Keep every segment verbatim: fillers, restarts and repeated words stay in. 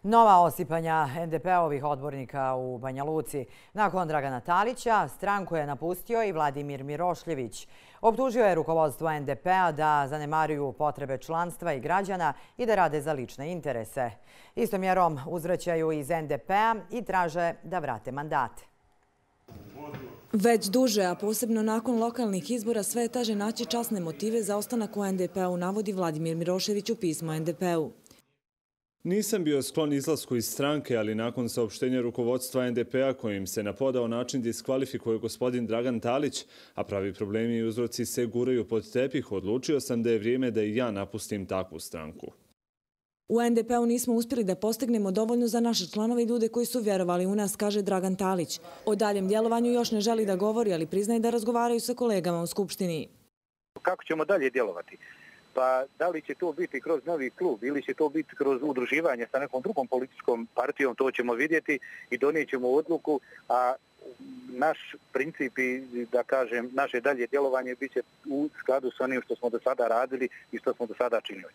Nova osipanja en de pe-ovih odbornika u Banja Luci. Nakon Dragana Talića, stranku je napustio i Vladimir Mirošljević. Optužio je rukovodstvo en de pe-a da zanemaruju potrebe članstva i građana i da rade za lične interese. Istom mjerom uzvraćaju iz en de pe-a i traže da vrate mandate. Već duže, a posebno nakon lokalnih izbora, sve je teže naći časne motive za ostanak u en de pe-u, navodi Vladimir Mirošević u pismu en de pe-u. Nisam bio sklon izlasku iz stranke, ali nakon saopštenja rukovodstva en de pe-a kojim se na podao način diskvalifikuje gospodin Dragan Talić, a pravi problemi i uzroci se guraju pod tepih, odlučio sam da je vrijeme da i ja napustim takvu stranku. U en de pe-u nismo uspjeli da postignemo dovoljno za naše članove i ljude koji su vjerovali u nas, kaže Dragan Talić. O daljem djelovanju još ne želi da govori, ali priznaje da razgovaraju sa kolegama u Skupštini. Kako ćemo dalje djelovati? Pa da li će to biti kroz novi klub ili će to biti kroz udruživanje sa nekom drugom političkom partijom, to ćemo vidjeti i donijet ćemo odluku, a naš princip i, da kažem, naše dalje djelovanje bit će u skladu s onim što smo do sada radili i što smo do sada činili.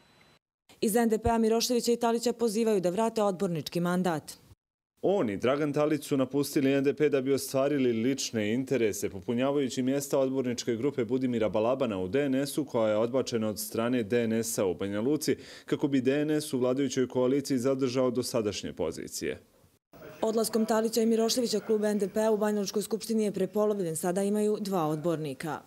Iz en de pe-a Miroševića i Talića pozivaju da vrate odbornički mandat. On i Dragan Talić su napustili en de pe da bi ostvarili lične interese, popunjavajući mjesta odborničke grupe Budimira Balabana u de en esu, koja je odbačena od strane de en esa u Banja Luci, kako bi de en es u vladajućoj koaliciji zadržao dosadašnje pozicije. Odlaskom Talića i Miroševića klub en de pe-a u Banjalučkoj skupštini je prepolovljen, sada imaju dva odbornika.